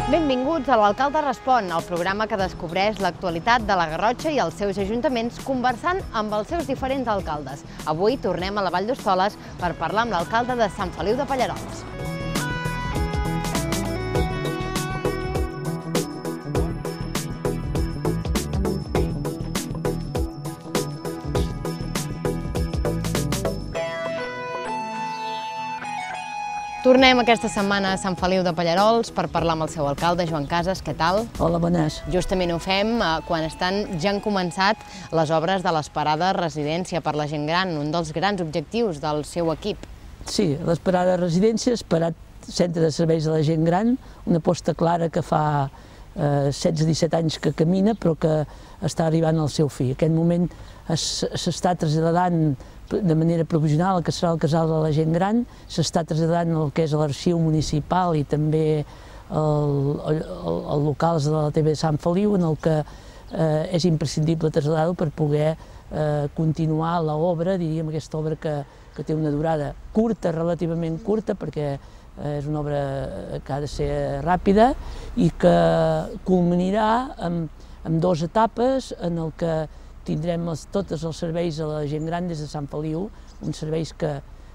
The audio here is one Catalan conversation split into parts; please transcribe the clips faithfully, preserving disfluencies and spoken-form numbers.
Benvinguts a l'Alcalde Respon, el programa que descobreix l'actualitat de la Garrotxa i els seus ajuntaments conversant amb els seus diferents alcaldes. Avui tornem a la Vall d'Hostoles per parlar amb l'alcalde de Sant Feliu de Pallerols. Tornem aquesta setmana a Sant Feliu de Pallerols per parlar amb el seu alcalde, Joan Casas. Què tal? Hola, bones. Justament ho fem quan estan, ja han començat les obres de l'Esperada Residència per la gent gran, un dels grans objectius del seu equip. Sí, l'Esperada Residència, Esperat Centre de Serveis a la Gent Gran, una aposta clara que fa eh, setze a disset anys que camina, però que està arribant al seu fi. En aquest moment s'està traslladant de manera provisional el que serà el casal de la gent gran, s'està traslladant el que és l'arxiu municipal i també els locals de la T V de Sant Feliu, en el que eh, és imprescindible traslladar-ho per poder eh, continuar l'obra, diríem, aquesta obra que, que té una durada curta, relativament curta, perquè eh, és una obra que ha de ser ràpida i que culminarà amb, amb dues etapes en el que tindrem els, tots els serveis a la gent gran des de Sant Feliu, uns serveis que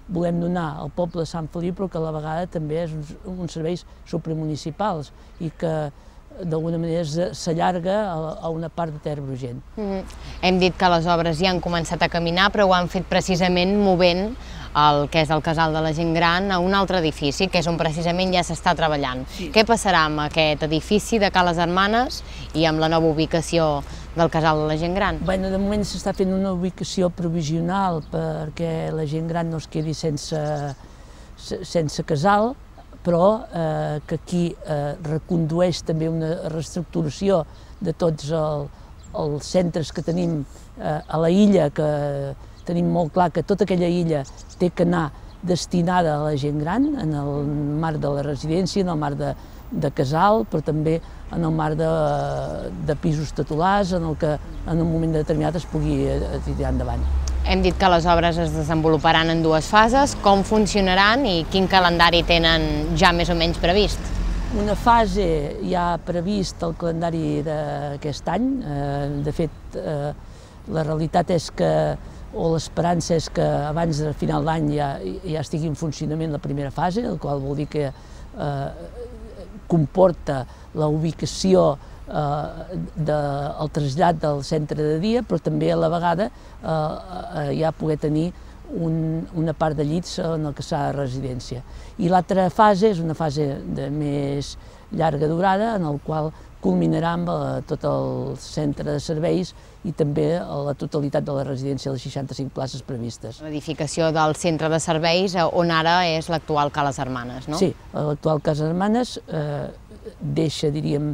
volem donar al poble de Sant Feliu, però que a la vegada també és uns, uns serveis supramunicipals i que d'alguna manera s'allarga a, a una part de Ter Brugent. Mm-hmm. Hem dit que les obres ja han començat a caminar, però ho han fet precisament movent el que és el casal de la gent gran a un altre edifici, que és on precisament ja s'està treballant. Sí. Què passarà amb aquest edifici de Ca les Hermanes i amb la nova ubicació del casal de la gent gran? Bé, de moment s'està fent una ubicació provisional perquè la gent gran no es quedi sense, sense casal, però eh, que aquí eh, recondueix també una reestructuració de tots el, els centres que tenim eh, a la illa, que tenim molt clar que tota aquella illa té que anar destinada a la gent gran, en el marc de la residència, en el marc de, de casal, però també en el marc de, de pisos titulars, en el que en un moment determinat es pugui tirar endavant. Hem dit que les obres es desenvoluparan en dues fases. Com funcionaran i quin calendari tenen ja més o menys previst? Una fase ja previst el calendari d'aquest any. De fet, la realitat és que, o l'esperança és que abans del final d'any ja, ja estigui en funcionament la primera fase, el qual vol dir que eh, comporta la ubicació eh, del trasllat del centre de dia, però també a la vegada eh, ja poder tenir un, una part de llits en el que serà la residència. I l'altra fase és una fase de més llarga durada, en el qual culminarà amb tot el centre de serveis i també la totalitat de la residència, les seixanta-cinc places previstes. L'edificació del centre de serveis, on ara és l'actual Ca les Hermanes, no? Sí, l'actual Ca les Hermanes eh, deixa, diríem,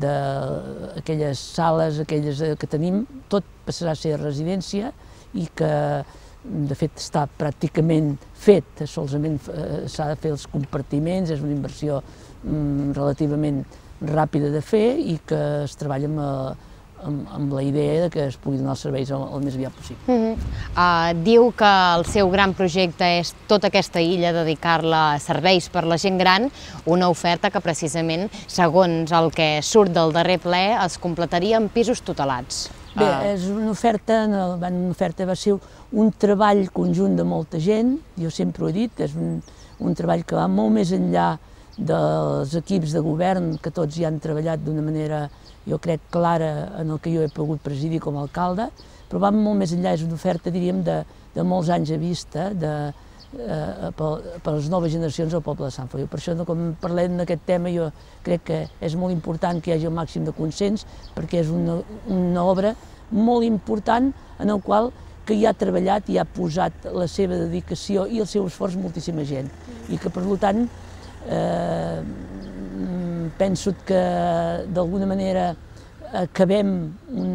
d'aquelles sales, aquelles que tenim, tot passarà a ser residència i que, de fet, està pràcticament fet, solament eh, s'ha de fer els compartiments, és una inversió mm, relativament ràpida de fer i que es treballa amb, amb, amb la idea que es pugui donar els serveis el, el més aviat possible. Mm-hmm. uh, diu que el seu gran projecte és tota aquesta illa, dedicar-la a serveis per la gent gran, una oferta que precisament, segons el que surt del darrer ple, es completaria amb pisos tutelats. Bé, és una oferta, una oferta va ser un treball conjunt de molta gent, jo sempre ho he dit, és un, un treball que va molt més enllà dels equips de govern, que tots hi han treballat d'una manera, jo crec, clara en el que jo he pogut presidir com a alcalde, però va molt més enllà, és una oferta, diríem, de, de molts anys a vista de, eh, per, per les noves generacions del poble de Sant Feliu. Per això, quan parlem d'aquest tema, jo crec que és molt important que hi hagi el màxim de consens, perquè és una, una obra molt important en el qual que hi ha treballat i ha posat la seva dedicació i el seu esforç moltíssima gent. I que, per tant, Eh, penso que d'alguna manera acabem un,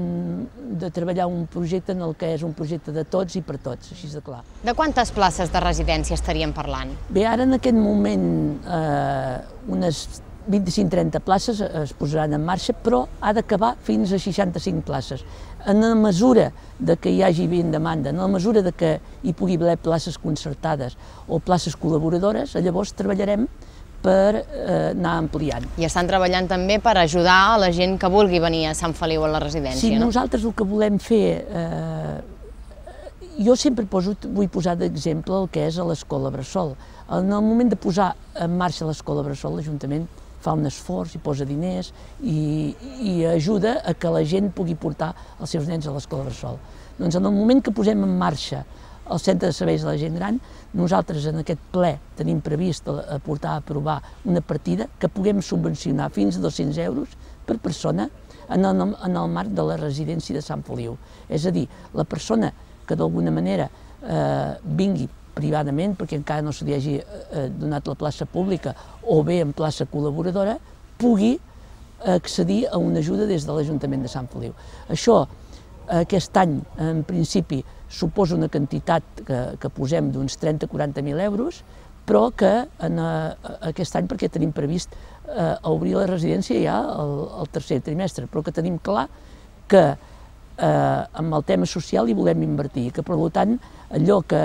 de treballar un projecte en el que és un projecte de tots i per tots, així de clar. De quantes places de residència estaríem parlant? Bé, ara en aquest moment eh, unes vint-i-cinc a trenta places es posaran en marxa, però ha d'acabar fins a seixanta-cinc places. En la mesura de que hi hagi ben demanda, en la mesura de que hi pugui haver places concertades o places col·laboradores, llavors treballarem per eh, anar ampliant. I estan treballant també per ajudar a la gent que vulgui venir a Sant Feliu a la residència, sí, no? Nosaltres el que volem fer, eh, jo sempre poso, vull posar d'exemple el que és a l'Escola Bressol. En el moment de posar en marxa l'Escola Bressol, l'Ajuntament fa un esforç i posa diners i, i ajuda a que la gent pugui portar els seus nens a l'Escola Bressol. Doncs en el moment que posem en marxa el Centre de Serveis de la Gent Gran, nosaltres en aquest ple tenim previst aportar a aprovar una partida que puguem subvencionar fins a dos-cents euros per persona en el, en el marc de la residència de Sant Feliu. És a dir, la persona que d'alguna manera eh, vingui privadament, perquè encara no se li hagi eh, donat la plaça pública o bé en plaça col·laboradora, pugui accedir a una ajuda des de l'Ajuntament de Sant Feliu. Això, aquest any, en principi, suposa una quantitat que, que posem d'uns trenta a quaranta mil euros, però que en, uh, aquest any, perquè tenim previst uh, obrir la residència ja el, el tercer trimestre, però que tenim clar que uh, amb el tema social hi volem invertir, que per tant allò que,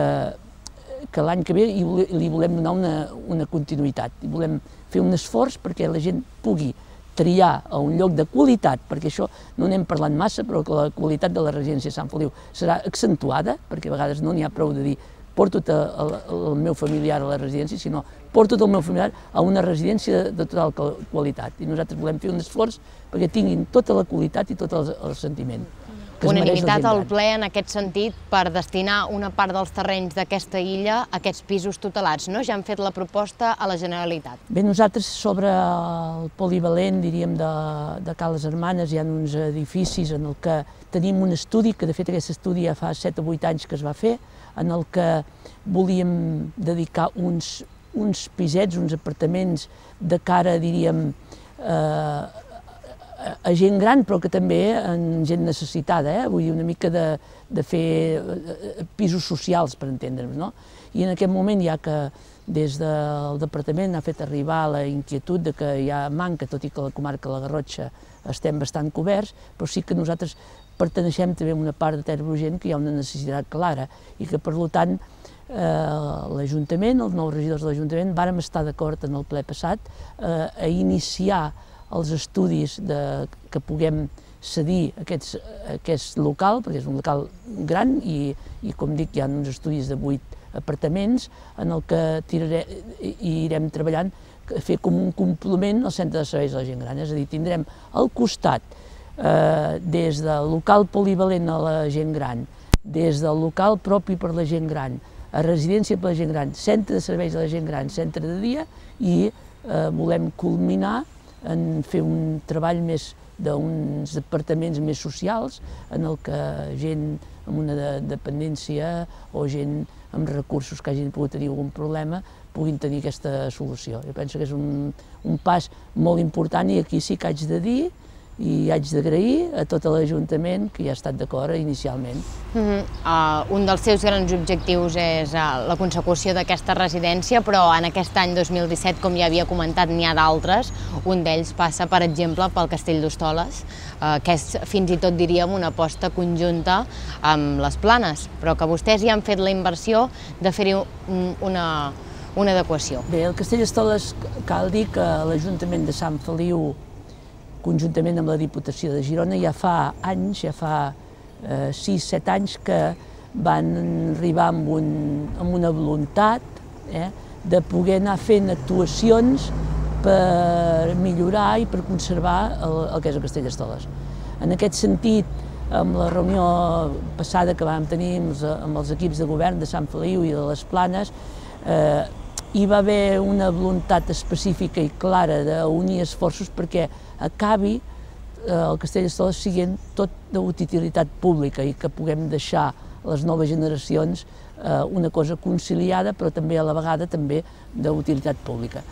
que l'any que ve hi, li volem donar una, una continuïtat, i volem fer un esforç perquè la gent pugui triar a un lloc de qualitat, perquè això no n'hem parlat massa, però que la qualitat de la residència de Sant Feliu serà accentuada, perquè a vegades no n'hi ha prou de dir porto el, el meu familiar a la residència, sinó porto el meu familiar a una residència de, de total qualitat. I nosaltres volem fer un esforç perquè tinguin tota la qualitat i tot el, el sentiment. Unanimitat al ple en aquest sentit per destinar una part dels terrenys d'aquesta illa a aquests pisos tutelats, no? Ja han fet la proposta a la Generalitat. Bé, nosaltres sobre el polivalent, diríem, de, de Ca les Hermanes, hi ha uns edificis en el que tenim un estudi, que de fet aquest estudi ja fa set o vuit anys que es va fer, en el que volíem dedicar uns, uns pisets, uns apartaments de cara, diríem, eh, a gent gran, però que també en gent necessitada, eh? Vull dir, una mica de, de fer pisos socials, per entendre'ns, no? I en aquest moment, ja que des del departament ha fet arribar la inquietud de que hi ha manca, tot i que a la comarca de la Garrotxa estem bastant coberts, però sí que nosaltres perteneixem també a una part de Ter Brugent que hi ha una necessitat clara i que, per tant, eh, l'Ajuntament, els nous regidors de l'Ajuntament, vàrem estar d'acord en el ple passat eh, a iniciar els estudis de, que puguem cedir aquests, aquest local, perquè és un local gran i, i com dic, hi ha uns estudis de vuit apartaments en el que tiraré, i irem treballant, fer com un complement al Centre de Serveis de la Gent Gran. És a dir, tindrem al costat, eh, des del local polivalent a la gent gran, des del local propi per la gent gran, a residència per la gent gran, centre de serveis de la gent gran, centre de dia, i eh, volem culminar en fer un treball més d'uns departaments més socials en el que gent amb una de dependència o gent amb recursos que hagin pogut tenir algun problema puguin tenir aquesta solució. Jo penso que és un, un pas molt important i aquí sí que haig de dir i haig d'agrair a tot l'Ajuntament que hi ha estat d'acord inicialment. Mm-hmm. uh, un dels seus grans objectius és uh, la consecució d'aquesta residència, però en aquest any dos mil disset, com ja havia comentat, n'hi ha d'altres. Un d'ells passa, per exemple, pel Castell d'Hostoles, uh, que és fins i tot, diríem, una aposta conjunta amb les Planes, però que vostès ja han fet la inversió de fer-hi una, una adequació. Bé, el Castell d'Hostoles cal dir que l'Ajuntament de Sant Feliu, conjuntament amb la Diputació de Girona, ja fa anys, ja fa eh, sis set anys que van arribar amb, un, amb una voluntat eh, de poder anar fent actuacions per millorar i per conservar el, el que és el Castell d'Hostoles. En aquest sentit, amb la reunió passada que vam tenir amb els, amb els equips de govern de Sant Feliu i de les Planes, eh, hi va haver una voluntat específica i clara d'unir esforços perquè acabi eh, el Castell d'Hostoles siguent tot d'utilitat pública i que puguem deixar a les noves generacions eh, una cosa conciliada però també a la vegada també d'utilitat pública.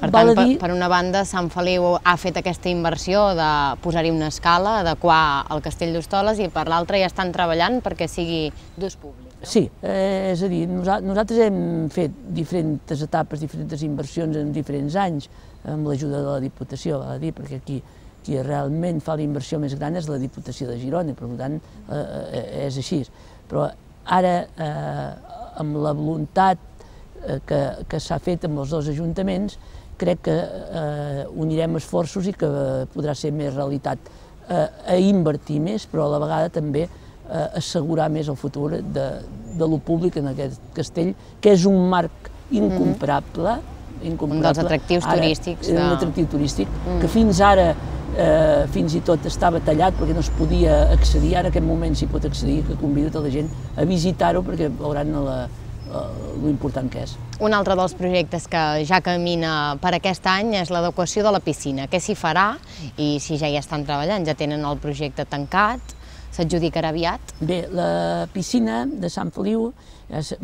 Per tant, dir... per una banda, Sant Feliu ha fet aquesta inversió de posar-hi una escala, adequar el Castell d'Hostoles, i per l'altra ja estan treballant perquè sigui d'ús públic. No? Sí, eh, és a dir, nosaltres hem fet diferents etapes, diferents inversions en diferents anys, amb l'ajuda de la Diputació, val a dir, perquè aquí qui realment fa la inversió més gran és la Diputació de Girona, i per tant eh, és així. Però ara, eh, amb la voluntat que, que s'ha fet amb els dos ajuntaments, crec que eh, unirem esforços i que podrà ser més realitat. Eh, a invertir més, però a la vegada també eh, assegurar més el futur de, de lo públic en aquest castell, que és un marc incomparable, incomparable. Un dels atractius ara, turístics. De... Un atractiu turístic, mm. que fins ara eh, fins i tot estava tallat perquè no es podia accedir, ara en aquest moment s'hi pot accedir, que convido tota la gent a visitar-ho perquè veuran la, lo important que és. Un altre dels projectes que ja camina per aquest any és l'adequació de la piscina. Què s'hi farà i si ja hi estan treballant, ja tenen el projecte tancat, s'adjudicarà aviat? Bé, la piscina de Sant Feliu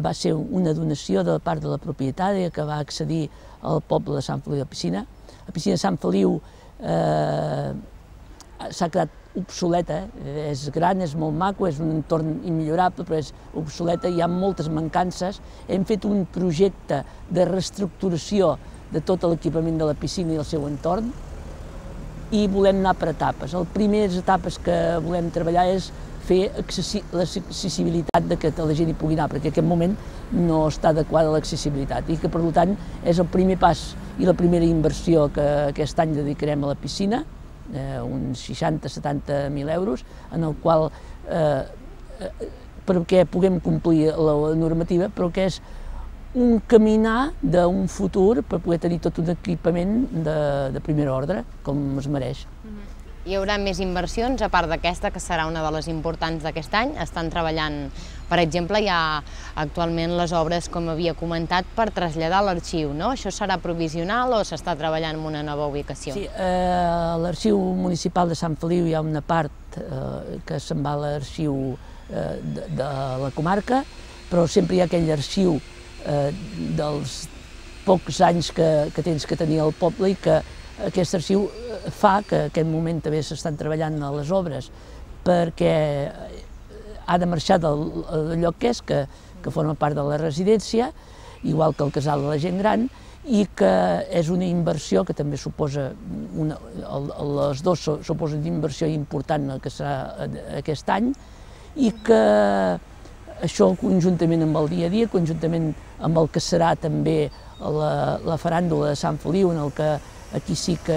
va ser una donació de part de la propietària que va accedir al poble de Sant Feliu de Piscina. La piscina de Sant Feliu eh, s'ha quedat obsoleta, és gran, és molt maco, és un entorn immillorable, però és obsoleta, hi ha moltes mancances. Hem fet un projecte de reestructuració de tot l'equipament de la piscina i el seu entorn i volem anar per etapes. Les primeres etapes que volem treballar és fer l'accessibilitat de que la gent hi pugui anar, perquè en aquest moment no està adequada l'accessibilitat i que, per tant, és el primer pas i la primera inversió que aquest any dedicarem a la piscina, Eh, uns seixanta a setanta mil euros, en el qual, eh, perquè puguem complir la normativa, però que és un caminar d'un futur per poder tenir tot un equipament de, de primer ordre, com es mereix. Hi haurà més inversions, a part d'aquesta, que serà una de les importants d'aquest any. Estan treballant, per exemple, hi ha actualment les obres, com havia comentat, per traslladar l'arxiu, no? Això serà provisional o s'està treballant en una nova ubicació? Sí, eh, a l'Arxiu Municipal de Sant Feliu hi ha una part eh, que se'n va a l'arxiu eh, de, de la comarca, però sempre hi ha aquell arxiu eh, dels pocs anys que, que tens que tenir al poble i que aquest arxiu fa que en aquest moment també s'estan treballant a les obres perquè ha de marxar del, del lloc que és, que, que forma part de la residència, igual que el casal de la gent gran, i que és una inversió que també suposa, una, les dues suposen una inversió important que serà aquest any, i que això conjuntament amb el dia a dia, conjuntament amb el que serà també la, la faràndula de Sant Feliu, en el que aquí sí que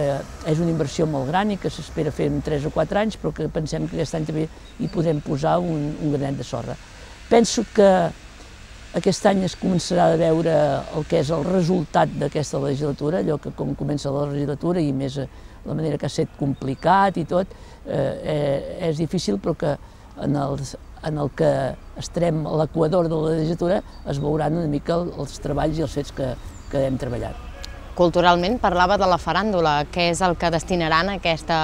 és una inversió molt gran i que s'espera fer en tres o quatre anys, però que pensem que aquest any també hi podrem posar un, un granet de sorra. Penso que aquest any es començarà a veure el que és el resultat d'aquesta legislatura, allò que com comença la legislatura i més la manera que ha estat complicat i tot, eh, és difícil, però que en, els, en el que estarem a l'equador de la legislatura es veuran una mica els treballs i els fets que, que hem treballat. Culturalment parlava de la faràndula, què és el que destinaran a aquesta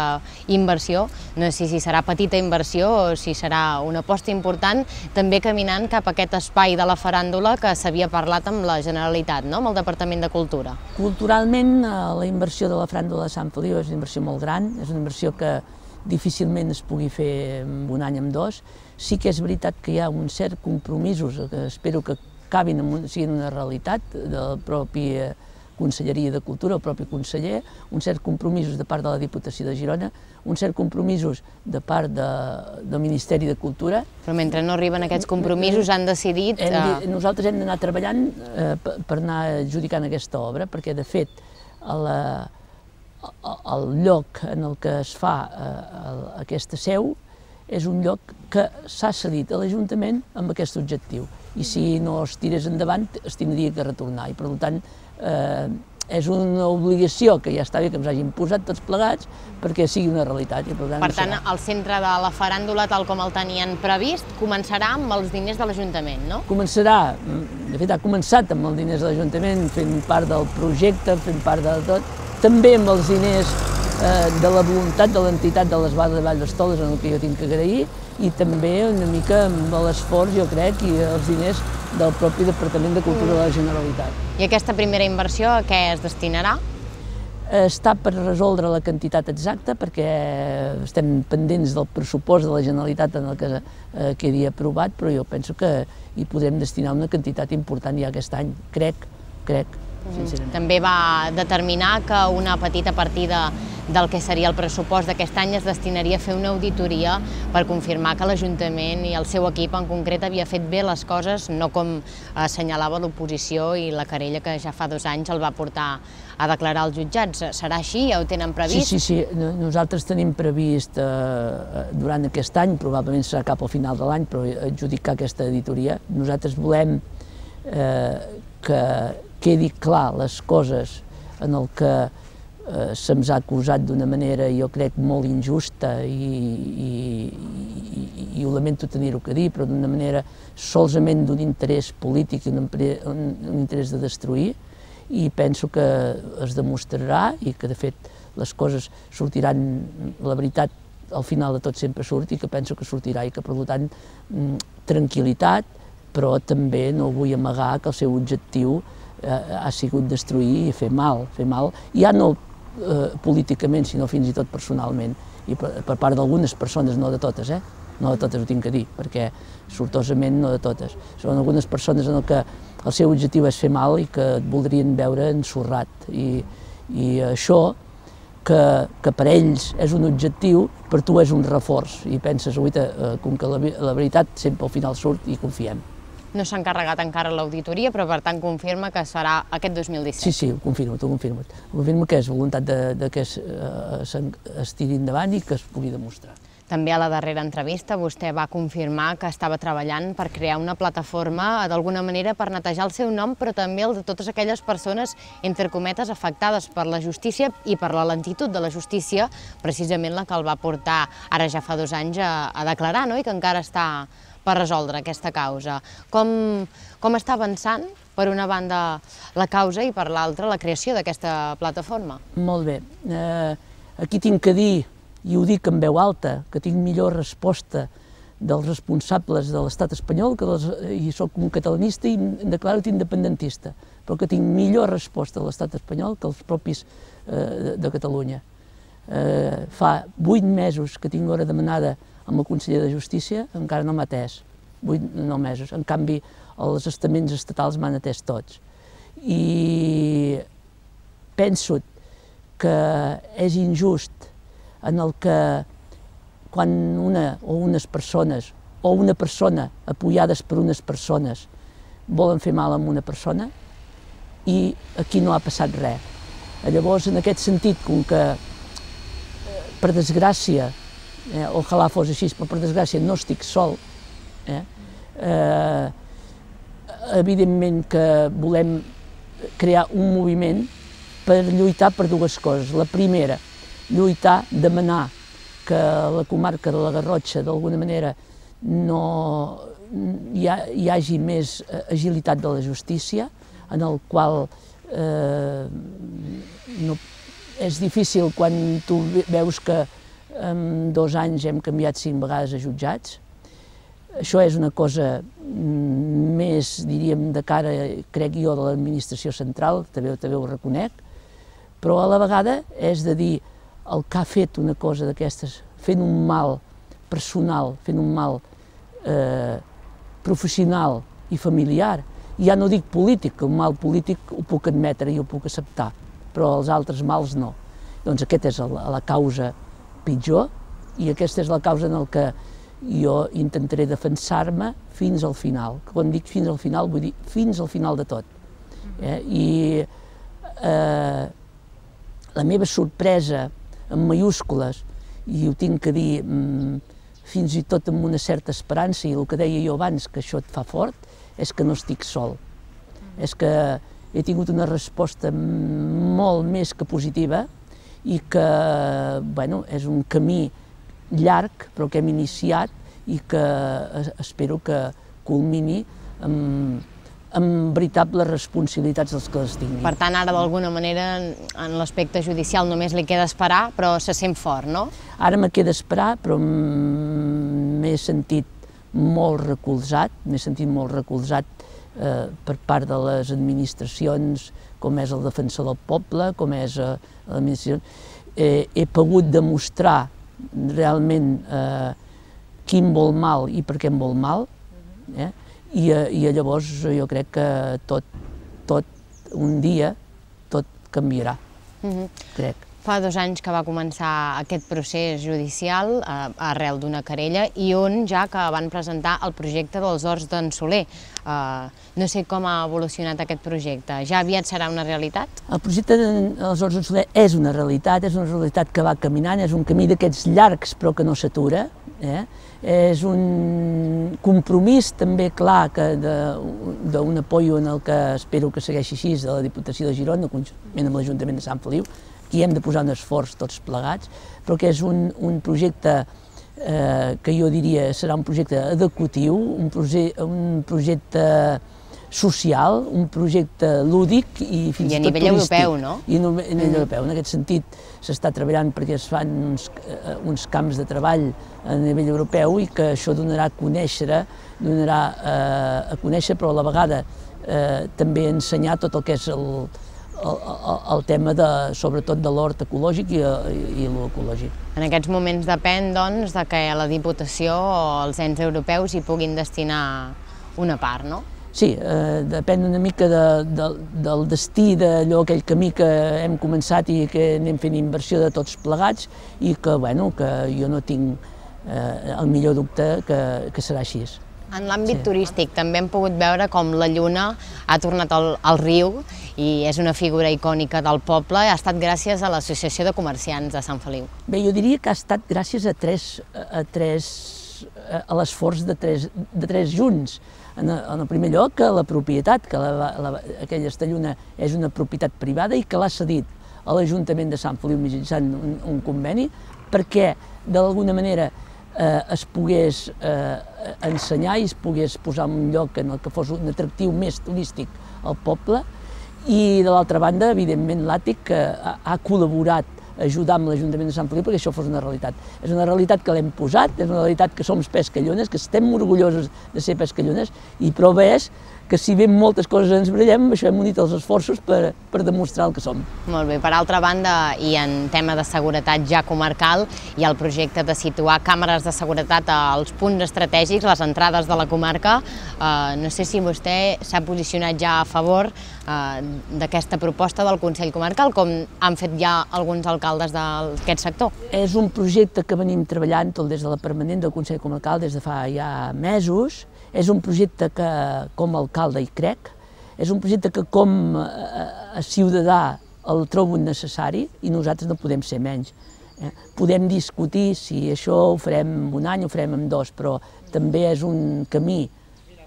inversió, no sé si serà petita inversió o si serà una aposta important, també caminant cap a aquest espai de la faràndula que s'havia parlat amb la Generalitat, no? Amb el Departament de Cultura. Culturalment, la inversió de la faràndula de Sant Feliu és una inversió molt gran, és una inversió que difícilment es pugui fer en un any o en dos. Sí que és veritat que hi ha un cert compromisos que espero que acabin, siguin una realitat del propi Conselleria de Cultura, el propi conseller, un cert compromisos de part de la Diputació de Girona, un cert compromisos de part de, del Ministeri de Cultura. Però mentre no arriben aquests compromisos han decidit... Hem, nosaltres hem d'anar treballant eh, per anar adjudicant aquesta obra, perquè de fet el, el lloc en el que es fa eh, aquesta seu és un lloc que s'ha cedit a l'Ajuntament amb aquest objectiu. I si no es tirés endavant, es tindria que retornar. I per tant, eh, és una obligació que ja està bé que ens hagin posat tots plegats perquè sigui una realitat. I per tant, per tant el centre de la faràndula, tal com el tenien previst, començarà amb els diners de l'Ajuntament, no? Començarà, de fet ha començat amb els diners de l'Ajuntament, fent part del projecte, fent part de tot, també amb els diners eh, de la voluntat de l'entitat de les Bades de Vall d'Estoles, en el que jo tinc que agrair, i també una mica amb l'esforç, jo crec, i els diners del propi Departament de Cultura de la Generalitat. I aquesta primera inversió a què es destinarà? Està per resoldre la quantitat exacta, perquè estem pendents del pressupost de la Generalitat en el que eh, quedi aprovat, però jo penso que hi podrem destinar una quantitat important ja aquest any, crec, crec, sincerament. També va determinar que una petita partida del que seria el pressupost d'aquest any es destinaria a fer una auditoria per confirmar que l'Ajuntament i el seu equip en concret havia fet bé les coses, no com assenyalava l'oposició i la querella que ja fa dos anys el va portar a declarar als jutjats. Serà així? Ja ho tenen previst? Sí, sí, sí. Nosaltres tenim previst eh, durant aquest any, probablement serà cap al final de l'any, però adjudicar aquesta auditoria. Nosaltres volem eh, que quedi clar les coses en el que eh, se'ns ha acusat d'una manera, jo crec, molt injusta i, i, i, i ho lamento tenir-ho que dir, però d'una manera solament d'un interès polític i un, un, un interès de destruir, i penso que es demostrarà i que de fet les coses sortiran, la veritat al final de tot sempre surt i que penso que sortirà i que per tant tranquil·litat, però també no vull amagar que el seu objectiu eh, ha sigut destruir i fer mal, fer mal, ja no eh, políticament sinó fins i tot personalment i per, per part d'algunes persones, no de totes, eh? No de totes ho tinc que dir, perquè sortosament no de totes. Són algunes persones en què el seu objectiu és fer mal i que et voldrien veure ensorrat. I, i això, que, que per ells és un objectiu, per tu és un reforç. I penses, uita, com que la, la veritat sempre al final surt i confiem. No s'ha encarregat encara l'auditoria, però per tant confirma que serà aquest dos mil disset. Sí, sí, ho confirmo, ho confirmo. Ho confirmo que és voluntat de, de que es, eh, es tiri endavant i que es pugui demostrar. També a la darrera entrevista vostè va confirmar que estava treballant per crear una plataforma d'alguna manera per netejar el seu nom, però també el de totes aquelles persones, entre cometes, afectades per la justícia i per la lentitud de la justícia, precisament la que el va portar ara ja fa dos anys a, a declarar, no? I que encara està per resoldre aquesta causa. Com, com està avançant, per una banda, la causa i per l'altra la creació d'aquesta plataforma? Molt bé. Eh, aquí tinc que dir, i ho dic en veu alta, que tinc millor resposta dels responsables de l'estat espanyol, que dels, i soc un catalanista i em declaro independentista, però que tinc millor resposta de l'estat espanyol que els propis eh, de Catalunya. Eh, fa vuit mesos que tinc hora demanada amb el conseller de Justícia, encara no m'ha atès, vuit no mesos. En canvi, els estaments estatals m'han atès tots. I penso que és injust en el que quan una o unes persones o una persona apoyades per unes persones volen fer mal a una persona i aquí no ha passat res. Llavors, en aquest sentit, com que per desgràcia, eh, ojalà fos així, però per desgràcia no estic sol, eh, eh, evidentment que volem crear un moviment per lluitar per dues coses. La primera, lluitar, demanar que la comarca de la Garrotxa d'alguna manera no hi, ha, hi hagi més agilitat de la justícia, en el qual eh, no, és difícil quan tu veus que en dos anys hem canviat cinc vegades a jutjats. Això és una cosa més, diríem, de cara, crec jo, de l'administració central, també, també ho reconec, però a la vegada és de dir el que ha fet una cosa d'aquestes, fent un mal personal, fent un mal eh, professional i familiar, i ja no dic polític, que un mal polític ho puc admetre i ho puc acceptar, però els altres mals no. Doncs aquesta és la, la causa pitjor i aquesta és la causa en la que jo intentaré defensar-me fins al final. Quan dic fins al final, vull dir fins al final de tot. Eh? I eh, la meva sorpresa, en mayúscules, i ho tinc que dir fins i tot amb una certa esperança, i el que deia jo abans, que això et fa fort, és que no estic sol. És que he tingut una resposta molt més que positiva i que, bueno, és un camí llarg, però que hem iniciat i que espero que culmini amb amb veritables responsabilitats dels que les tinguin. Per tant, ara d'alguna manera en l'aspecte judicial només li queda esperar, però se sent fort, no? Ara me queda esperar, però m'he sentit molt recolzat, m'he sentit molt recolzat eh, per part de les administracions, com és el defensor del poble, com és eh, l'administració. Eh, he pogut demostrar realment eh, qui em vol mal i per què em vol mal, eh? I, i llavors jo crec que tot, tot un dia, tot canviarà, uh-huh. crec. Fa dos anys que va començar aquest procés judicial eh, arrel d'una querella i on ja que van presentar el projecte dels Horts d'en Soler. Eh, no sé com ha evolucionat aquest projecte. Ja aviat serà una realitat? El projecte dels Horts d'en Soler és una realitat, és una realitat que va caminant, és un camí d'aquests llargs però que no s'atura. Eh? És un compromís també clar d'un apoyo en el que espero que segueixi així de la Diputació de Girona, conjuntament amb l'Ajuntament de Sant Feliu, que hi hem de posar un esforç tots plegats, però que és un, un projecte eh, que jo diria serà un projecte adequatiu, un, proje un projecte social, un projecte lúdic i fins i, i tot turístic. I a nivell europeu, no? I a nivell mm. europeu. En aquest sentit s'està treballant perquè es fan uns, uh, uns camps de treball a nivell europeu i que això donarà a conèixer, donarà uh, a conèixer, però a la vegada uh, també ensenyar tot el que és el, el, el, el tema de, sobretot de l'hort ecològic i, i l'ecològic. En aquests moments depèn, doncs, de que la Diputació o els ens europeus hi puguin destinar una part, no? Sí, eh, depèn una mica de, de, del destí d'allò, aquell camí que hem començat i que anem fent inversió de tots plegats i que, bueno, que jo no tinc eh, el millor dubte que, que serà així. En l'àmbit sí. turístic també hem pogut veure com la lluna ha tornat al, al riu i és una figura icònica del poble i ha estat gràcies a l'Associació de Comerciants de Sant Feliu. Bé, jo diria que ha estat gràcies a tres, a tres, a l'esforç de tres, de tres junts. En el primer lloc, a la propietat, que la, la, aquella lluna és una propietat privada i que l'ha cedit a l'Ajuntament de Sant Feliu mitjançant un, un conveni perquè d'alguna manera eh, es pogués eh, ensenyar i es pogués posar en un lloc en el que fos un atractiu més turístic al poble i de l'altra banda, evidentment, l'Àtic que ha, ha col·laborat ajudar amb l'Ajuntament de Sant Feliu perquè això fos una realitat. És una realitat que l'hem posat, és una realitat que som pescallones, que estem orgullosos de ser pescallones i prova és que si bé moltes coses ens brillem, això hem unit els esforços per, per demostrar el que som. Molt bé, per altra banda, i en tema de seguretat ja comarcal, hi ha el projecte de situar càmeres de seguretat als punts estratègics, les entrades de la comarca. Uh, no sé si vostè s'ha posicionat ja a favor uh, d'aquesta proposta del Consell Comarcal, com han fet ja alguns alcaldes d'aquest sector. És un projecte que venim treballant tot des de la permanent del Consell Comarcal des de fa ja mesos. És un projecte que, com a alcalde hi crec, és un projecte que com a ciutadà el trobo necessari i nosaltres no podem ser menys. Eh? Podem discutir si això ho farem un any o ho farem en dos, però també és un camí,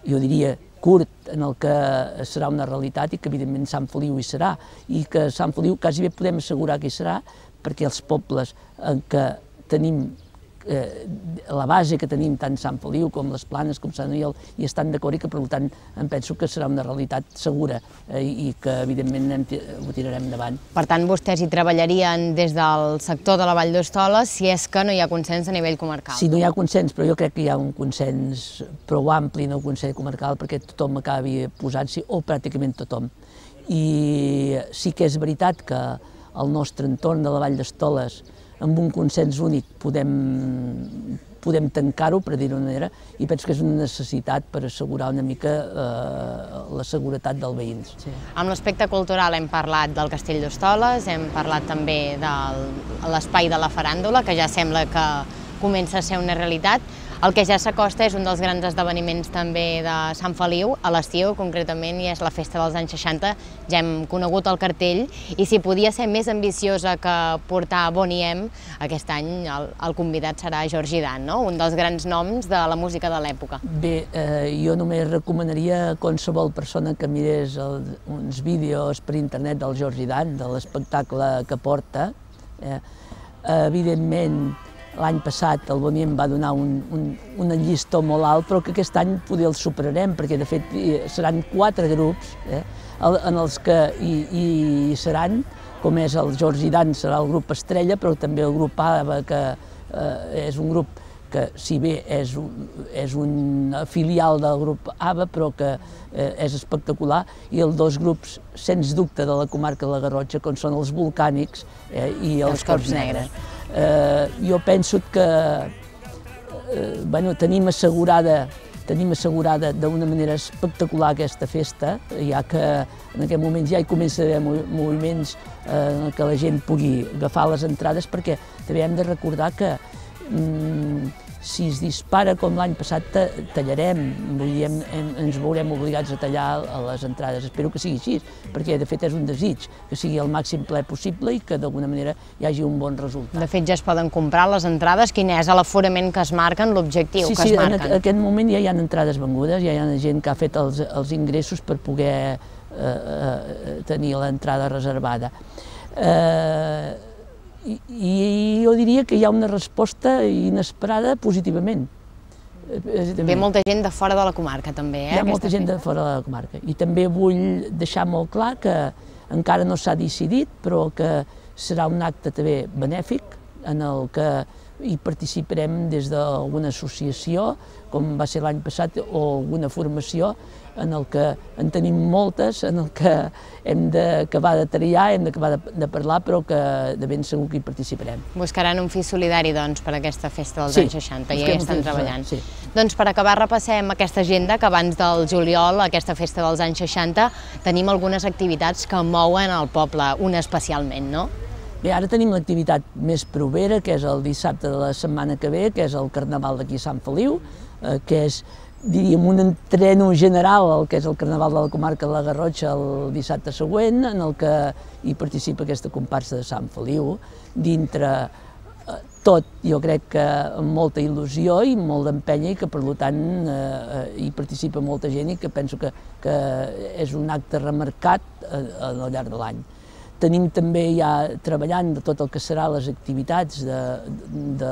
jo diria, curt en el que serà una realitat i que evidentment Sant Feliu hi serà i que Sant Feliu quasi bé podem assegurar que hi serà perquè els pobles en què tenim Eh, la base que tenim tant Sant Feliu com les Planes com Sant Aniol hi estan d'acord i que per tant em penso que serà una realitat segura eh, i que evidentment ho tirarem endavant. Per tant, vostès hi treballarien des del sector de la Vall d'Hostoles si és que no hi ha consens a nivell comarcal? Sí, no hi ha consens, però jo crec que hi ha un consens prou ampli en el Consell Comarcal perquè tothom acabi posant-s'hi, o pràcticament tothom. I sí que és veritat que el nostre entorn de la Vall d'Hostoles amb un consens únic podem, podem tancar-ho, per dir-ho d'una manera, i penso que és una necessitat per assegurar una mica eh, la seguretat dels veïns. Sí. Amb l'aspecte cultural hem parlat del Castell d'Hostoles, hem parlat també de l'espai de la faràndula, que ja sembla que comença a ser una realitat. El que ja s'acosta és un dels grans esdeveniments també de Sant Feliu, a l'estiu concretament, i és la festa dels anys seixanta. Ja hem conegut el cartell i si podia ser més ambiciosa que portar Boniem, aquest any el, el convidat serà Jordi Dan, no? Un dels grans noms de la música de l'època. Bé, eh, jo només recomanaria a qualsevol persona que mirés el, uns vídeos per internet del Jordi Dan, de l'espectacle que porta. Eh, evidentment, l'any passat el Boniem va donar un, un, una llistó molt alt, però que aquest any poder el superarem, perquè de fet seran quatre grups eh, en els que hi, hi seran, com és el Jordi Dan, serà el grup estrella, però també el grup ABBA, que eh, és un grup que, si bé és, és una filial del grup ABBA, però que eh, és espectacular, i els dos grups, sens dubte, de la comarca de la Garrotxa, com són els Volcànics eh, i els, els Corps Negres. Eh, jo penso que eh, bueno, tenim assegurada tenim assegurada d'una manera espectacular aquesta festa, ja que en aquest moment ja hi comença a haver moviments eh, que la gent pugui agafar les entrades, perquè també hem de recordar que mm, si es dispara com l'any passat, tallarem, vull dir, ens veurem obligats a tallar a les entrades. Espero que sigui així, perquè de fet és un desig, que sigui el màxim ple possible i que d'alguna manera hi hagi un bon resultat. De fet ja es poden comprar les entrades, quin és l'aforament que es marquen, l'objectiu sí, que sí, es marquen? Sí, en aquest moment ja hi ha entrades vengudes, ja hi ha gent que ha fet els, els ingressos per poder eh, eh, tenir l'entrada reservada. Eh, I, I jo diria que hi ha una resposta inesperada positivament. Ve molta gent de fora de la comarca també, eh? Hi ha molta gent de fora de la comarca. I també vull deixar molt clar que encara no s'ha decidit, però que serà un acte també benèfic en el que hi participarem des d'alguna associació, com va ser l'any passat, o alguna formació, en el que en tenim moltes, en el que hem d'acabar de triar, hem d'acabar de, de parlar, però que de ben segur que hi participarem. Buscaran un fi solidari, doncs, per aquesta festa dels sí, anys seixanta, i ja hi estan treballant. Sí. Doncs per acabar repassem aquesta agenda, que abans del juliol, aquesta festa dels anys seixanta, tenim algunes activitats que mouen el poble, una especialment, no? Bé, ara tenim l'activitat més propera, que és el dissabte de la setmana que ve, que és el Carnaval d'aquí a Sant Feliu, eh, que és, diríem, un entreno general al que és el Carnaval de la comarca de la Garrotxa el dissabte següent, en el que hi participa aquesta comparsa de Sant Feliu, dintre eh, tot, jo crec que amb molta il·lusió i molt d'empenya, i que per tant eh, hi participa molta gent i que penso que, que és un acte remarcat eh, al llarg de l'any. Tenim també ja treballant de tot el que serà les activitats de, de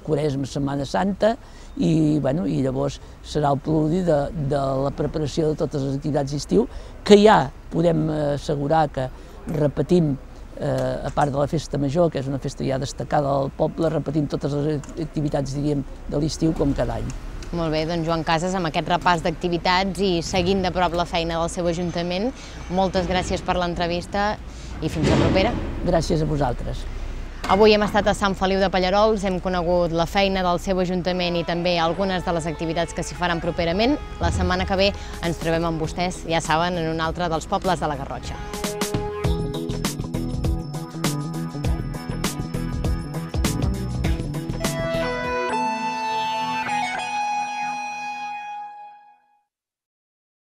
Quaresma, Setmana Santa, i, bueno, i llavors serà el preludi de, de la preparació de totes les activitats d'estiu, que ja podem assegurar que repetim, eh, a part de la festa major, que és una festa ja destacada del poble, repetim totes les activitats, diríem, de l'estiu com cada any. Molt bé, doncs Joan Casas, amb aquest repàs d'activitats i seguint de prop la feina del seu ajuntament, moltes gràcies per l'entrevista i fins la propera. Gràcies a vosaltres. Avui hem estat a Sant Feliu de Pallerols, hem conegut la feina del seu ajuntament i també algunes de les activitats que s'hi faran properament. La setmana que ve ens trobem amb vostès, ja saben, en un altre dels pobles de la Garrotxa.